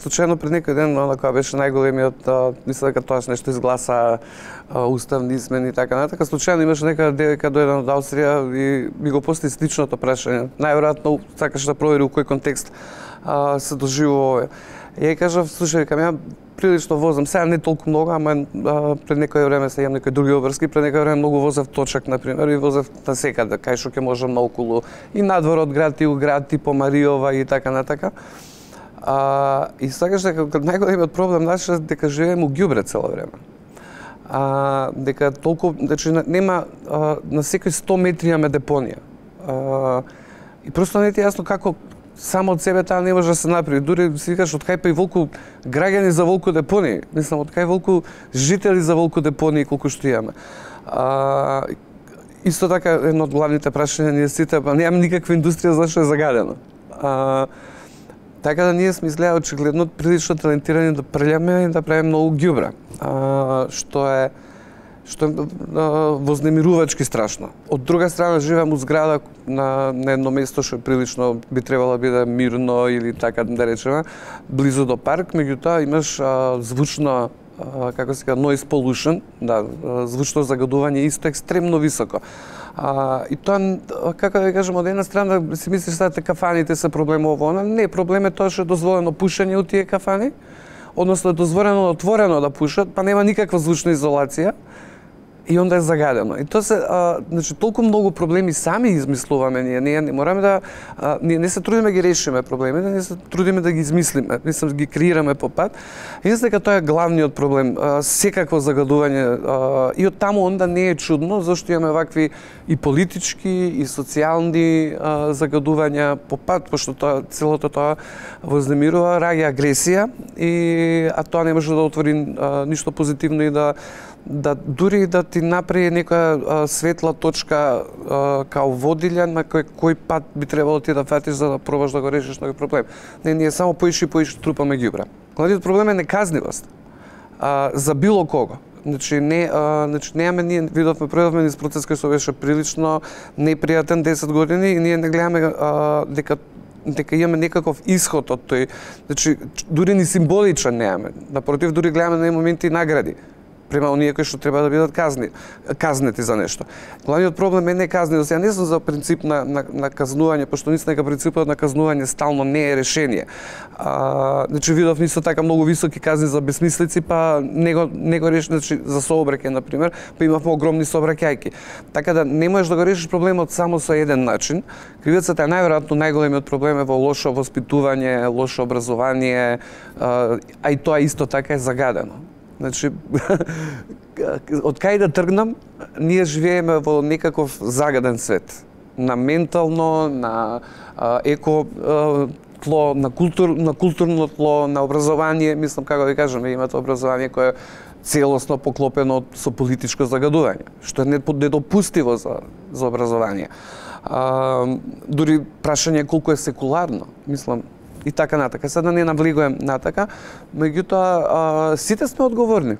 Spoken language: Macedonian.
Случајно пред некој ден, кога беше најголемиот, мисля дека тоа нешто изгласа уставни измени и така натака, случајно имаше нека девојка дојде од Австрија и ми го постави сличното прашање. Најверојатно сакаше да провери у кој контекст се доживува ова. И ја кажав, слушај, кам ја прилично возам, сега не толку многу, ама пред некој време се имам некои други обврски, пред некој време многу возев точак, например, и возев насекаде, кај што ќе можам наоколу, и надвор од град, и у град, и по Маријова и така натака. И сакаш дека најголемиот проблем наш е дека живееме у ѓубре цело време. Дека толку, значи нема на секои 100 метри имаме депонија. И просто не ти е јасно како само од себе таа не може да се направи. Дури си викаш од кај па и волку граѓани за волку депонии. Мислам од кај волку жители за волку депонии колку што имаме. Исто така едно од главните прашања ние сите, па немаме никаква индустрија зашто е загадено. Така да ние сме изгледа очигледно прилично талентирани да прелеме и да правиме многу ѓубре, што е вознемирувачки страшно. Од друга страна живеам у зграда на едно место што прилично би требало да биде мирно или така да речеме, близу до парк, меѓутоа имаш звучно, како се кажа, noise pollution, да, звучно загадување исто екстремно високо. И тоа, како да кажем, од една страна си мислиш дека кафаните се проблем ово, не, проблем е тоа што е дозволено пушење у тие кафани, односно е дозволено отворено да пушат, па нема никаква звучна изолација, и онда е загадено. И тоа се, значи, толку многу проблеми сами измислуваме ние не мораме да, ние не се трудиме да ги решиме проблемите, ние се трудиме да ги измислиме, мислам да ги креираме по пат. И мислам дека тоа е главниот проблем, секакво загадување. И од таму онда не е чудно, зашто имаме вакви и политички, и социјални загадувања по пат, пошто тоа, целото тоа вознемирува, раѓа агресија, а тоа не може да отвори ништо позитивно и да дури да ти направи некоја светла точка као водилја на кој пат би требало ти да фатиш за да пробаш да го решиш тој проблем. Не, ние само поише трупаме ѓубре. Главниот проблем е неказнивост за било кого. Значи немаме, ние видовме низ процес кој што беше прилично непријатен 10 години и ние не гледаме дека имаме некаков исход од тој, значи дури ни символичен немаме. Напротив, дури гледаме на моменти награди према оние кои што треба да бидат казнети за нешто. Главниот проблем е не казненост. Ја не сум за принцип на казнување, пошто мислам дека принципот на казнување стално не е решение. Значи видов исто така многу високи казни за безсмислици, па не го реши, значи за сообраќај на пример, па имавме огромни сообраќајки. Така да не можеш да го решиш проблемот само со еден начин. Кривицата е најверојатно најголемиот проблем е во лошо воспитување, лошо образование, а и тоа исто така е загадено. Значи, од кај да тргнам, ние живееме во некаков загаден свет. На ментално, на еко тло, на културно тло, на образование, мислам, како ви кажам, имате образование кое е целосно поклопено со политичко загадување, што е недопустиво за образование. Дури прашање колку е секуларно, мислам, и така натака. Сега да не навлегувам натака, меѓутоа сите сме одговорни.